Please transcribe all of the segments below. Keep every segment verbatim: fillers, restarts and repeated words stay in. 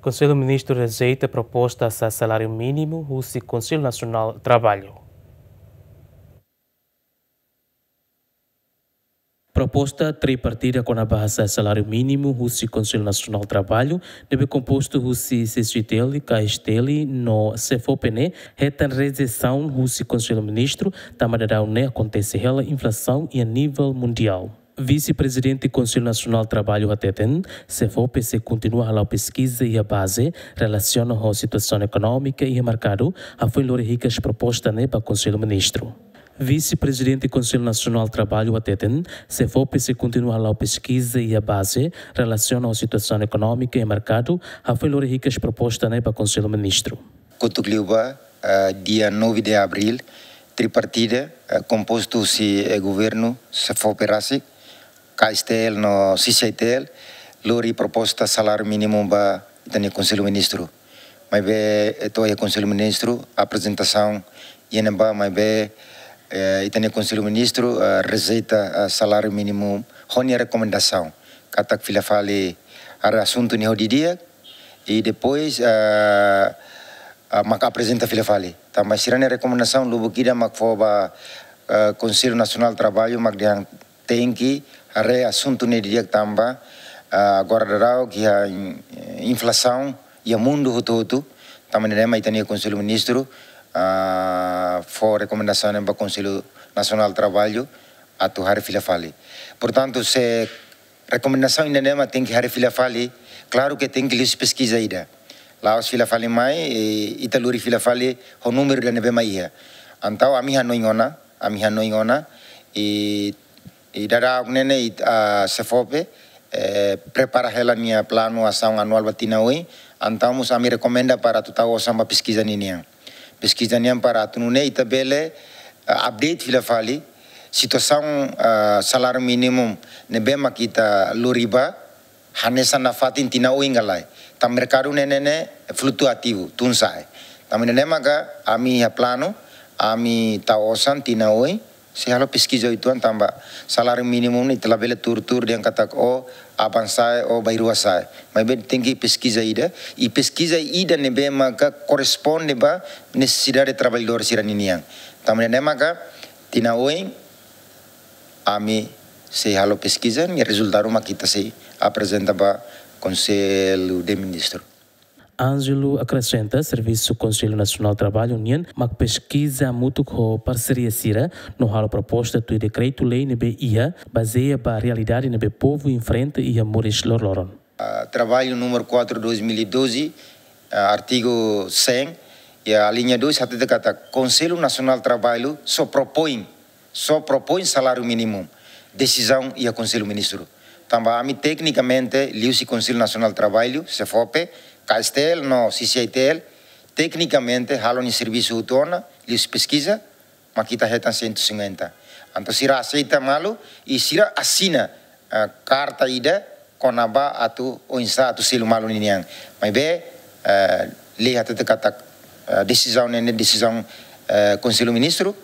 Konsellu Ministru rejeita proposta hasa'e saláriu mínimu husi Konsellu Nasionál Traballu. Proposta tripartida kona-ba hasa'e saláriu mínimu husi Konsellu Nasionál Traballu, ne'ebé kompostu husi C C T L, K S T L no SEFOPE ne'e, hetan rejeisaun husi Konsellu Ministru, tanba daudaun ne'e akontese hela inflasaun iha nivel mundiál. Vise-Prezidente Konsellu Nasionál Traballu hateten, SEFOPE sei kontinua hala'o peskiza iha baze relasiona ho situasaun ekonómika iha merkadu, hafoin lori hikas proposta ne'e ba Konsellu Ministru. Vise-Prezidente Konsellu Nasionál Traballu hateten, SEFOPE sei kontinua hala'o peskiza iha baze relasiona ho situasaun ekonómika iha merkadu, hafoin lori hikas proposta ne'e ba Konsellu Ministru. Kotuk liu ba, ah, dia nove de abril, tripartida, ah, kompostu husi, eh, governu, SEFOPE rasik, K S T L no C C I T L, lori proposta saláriu mínimu ba ita-nia Konsellu Ministru. Maibé, eh, to'o iha Konsellu Ministru, aprezentasaun iha ne'ebá, maibé, eh, ita-nia Konsellu Ministru, eh, rejeita, eh, saláriu mínimu ho nia rekomendasaun katak fila fali haree asuntu ne'e ho didi'ak, i depois, ah, ah, mak aprezenta fila fali. Tanba sira-nia rekomendasaun lubuk ida mak fó ba, ah, Konsellu Nasionál Traballu mak dehan tenke haree asuntu ne'e didi'ak tanba, ah, agora daudaun iha in-, inflasaun iha mundu hotu-hotu. Tanba ne'e mak ita-nia Konsellu Ministru, ah, fó rekomendasaun ba Konsellu Nasionál Traballu atu haree fila fali. Portantu, se rekomendasaun ida-ne'e mak tenke haree fila fali, klaru ke tenke liuhusi peskiza ida. La'ós fila fali mai, eh, ita lori fila fali ho númeru ida ne'ebé mak iha. Entaun ami hanoin ona, ami hanoin ona, i, i daudaun ne'e ne'e, i, ah, SEFOPE, eh, prepara hela nia planu asaun anuál ba tinan oin, entaun mós ami rekomenda para atu tau osan ba peskiza ninian. Peskiza nian para atu nune'e ita bele, eh, update fila fali situasaun, eh, saláriu mínimu ne'ebé mak ita lori ba, hanesan nafatin tinan oin ka lae. Tanba merkadu ne'e ne'e ne'e flutuativu, tun sa'e. Tanba ne'e ne'e maka ami iha planu, ami tau osan tinan oin, sei halo peskiza uitoan tanba saláriu mínimu ne'e ita labele tuur-tuur dehan katak o aban sa'e, o bainrua sa'e. Maibé tenke peskiza ida, i peskiza ida ne'ebé maka korresponde ba nesesidade traballadór sira ninian. Tanba ne'e maka tinan oin ami sei halo peskiza, nia rezultadu mak ita sei aprezenta ba Konsellu de Ministru. Ângelo akresenta, servisu Konsellu Nasionál Traballu nian mak peskiza hamutuk ho parseria sira no halo proposta tuir dekretu-lei ne'ebé iha, bazeia ba realidade ne'ebé povu enfrenta iha moris loroloron. Ah, traballu número quatro dois mil e doze, ah, artigu cem, iha alínea dois, hatete katak Konsellu Nasionál Traballu só propoin, só propoin saláriu mínimu. Desizaun iha Konsellu Ministru. Tanba ami teknikamente, liuhusi Konsellu Nasionál Traballu, SEFOPE, K S T L no C C I T L, teknikamente, halo nia servisu hotu ona, liuhusi peskiza, mak ita hetan cento e cinquenta. Entaun sira aseita malu, i sira asina, eh, karta ida, kona-ba atu oinsá atu selu malu ninian. Maibé, eh, lei hatete katak, eh, desizaun ne'e ne'e desizaun, eh, Konsellu Ministru,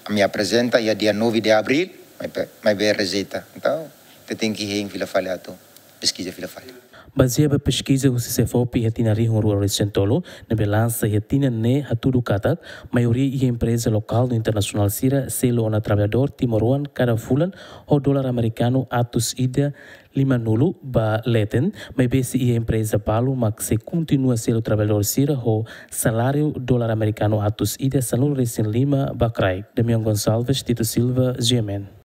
ami aprezenta iha dia nove de abril, maibé, maibé rejeita. Entaun, ita tenke hein fila fali atu peskiza fila fali. Bazeia ba peskiza husi SEFOPE iha tinan rihun rua resin tolu, ne'ebé lansa iha tinan ne'e hatudu katak, maioria iha empreza lokál no internasionál sira selu ona traballadór timoroan kada fulan ho dolar amerikanu atus ida limanulu ba leten, maibé sei iha empreza balu mak sei kontinua selu traballadór sira ho saláriu dolar amerikanu atus ida sanulu resin lima ba kraik. Damião Gonçalves, Tito Silva, G M N.